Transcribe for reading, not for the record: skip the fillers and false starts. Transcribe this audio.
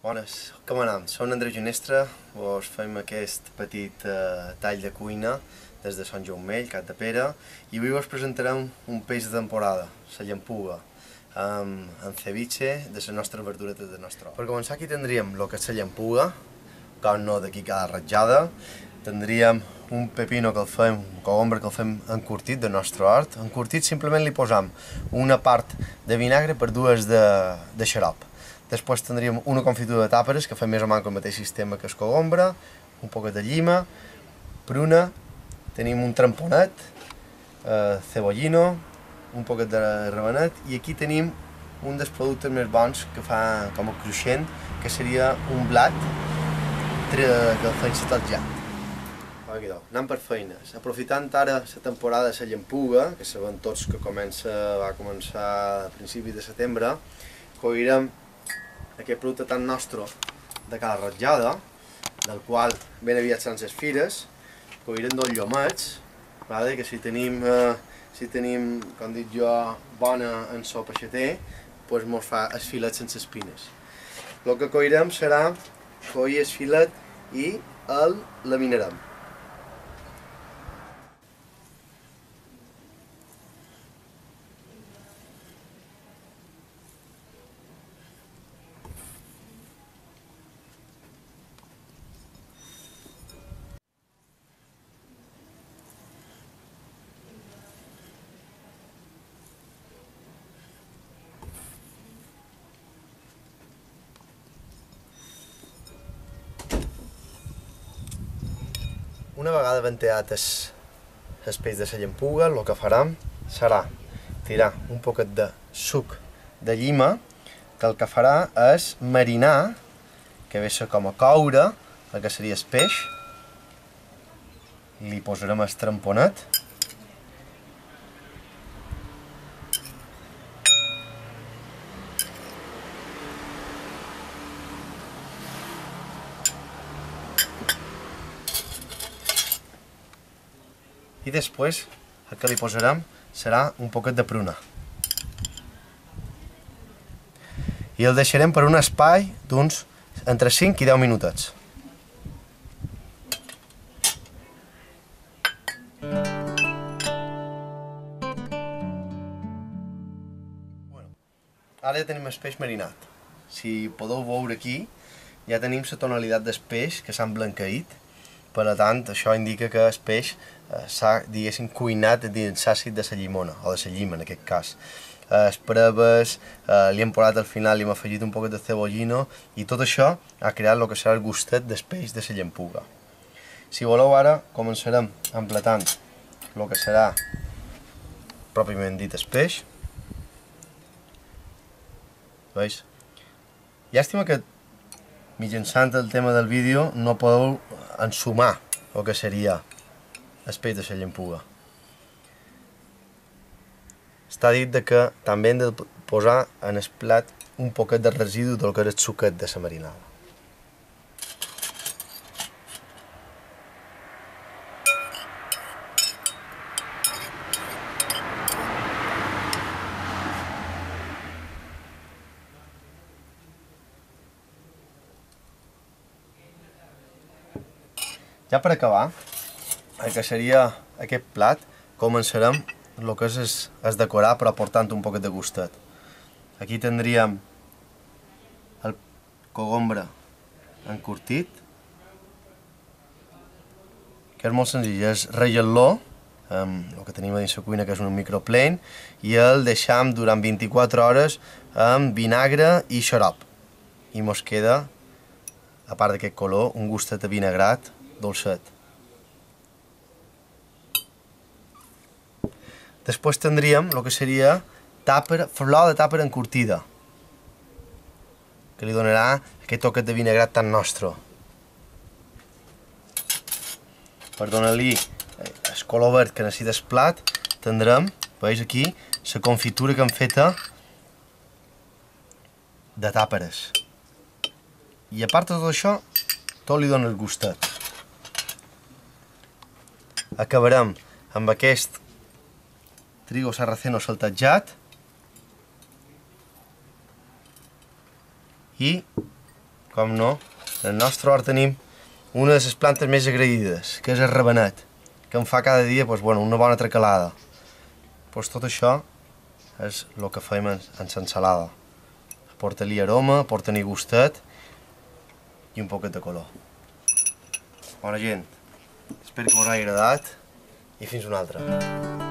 Bones, com anem? Som Andreu Ginestra, vos fem aquest petit tall de cuina des de Sant Jaumell, Cap de Pere, i avui vos presentarem un peix de temporada, la llampuga, amb ceviche de les nostres verduretes de nostre hort. Per començar aquí tindríem el que és la llampuga, com no d'aquí cada ratjada, tindríem un pepino que el fem, un cogombre que el fem encurtit de nostre hort. Encurtit simplement li posam una part de vinagre per dues de xarop. Després tindríem una confitura de tàperes que fem més o menys el mateix sistema que el cogombre, un poquet de llima, pruna, tenim un tramponet, cebollino, un poquet de rabanet i aquí tenim un dels productes més bons que fa com a cruixent, que seria un blat que el fem saltejat. Anem per feines. Aprofitant ara la temporada de la llampuga, que sabem tots que va començar a principis de setembre, coirem aquest producte tan nostre de cada ratjada, del qual ben aviat seran les fires, coirem dos llomets, que si tenim, com dic jo, bona en so peixater, doncs mos fa el filet sense espines. El que coirem serà coir el filet i el laminarem. Una vegada venteat el peix de la llampuga, el que farem serà tirar un poquet de suc de llima, que el que farà és marinar, que ve a ser com a coure, el que seria el peix. Li posarem el tramponet. I després el que li posarem serà un poquet de pruna. I el deixarem per un espai d'uns entre 5 i 10 minutets. Ara ja tenim el peix marinat. Si podeu veure aquí, ja tenim la tonalitat del peix que s'ha emblanqueït. Per tant, això indica que el peix s'ha, diguéssim, cuinat dins l'àcid de la llimona, o de la llima en aquest cas. Les preves, li hem posat al final, li hem afegit un poquet de cebollino i tot això ha creat el que serà el gustet del peix de la llampuga. Si voleu ara, començarem emplatant el que serà pròpiament dit el peix. Veus? Llàstima que mitjançant el tema del vídeo no podeu ensumar el que seria el peix de la llampuga. Està dit que també hem de posar en el plat un poquet de residu del que era el suquet de la marinada. Ja per acabar, el que seria aquest plat, començarem el que és el decorar però aportant un poquet de gustet. Aquí tindríem el cogombre encurtit, que és molt senzill, és ratllar-lo, el que tenim a dins la cuina que és un microplane, i el deixam durant 24 hores amb vinagre i xarop. I mos queda, a part d'aquest color, un gustet avinagrat dolcet. Després tindríem el que seria flor de tàper encurtida, que li donarà aquest toquet de vinagrat tan nostre. Per donar-li el color verd que necessita el plat, tindrem, veus aquí, la confitura que hem feta de tàperes. I a part de tot això, tot li dona el gustet. Acabarem amb aquest trigo sarraceno saltejat i com no, en el nostre hort tenim una de les plantes més agraïdes, que és el rabanet, que em fa cada dia una bona tracalada. Tot això és el que fem en l'ensalada. Aporta-li aroma, aporta-li gustet i un poquet de color. Bona gent, espero que us hagi agradat i fins una altra.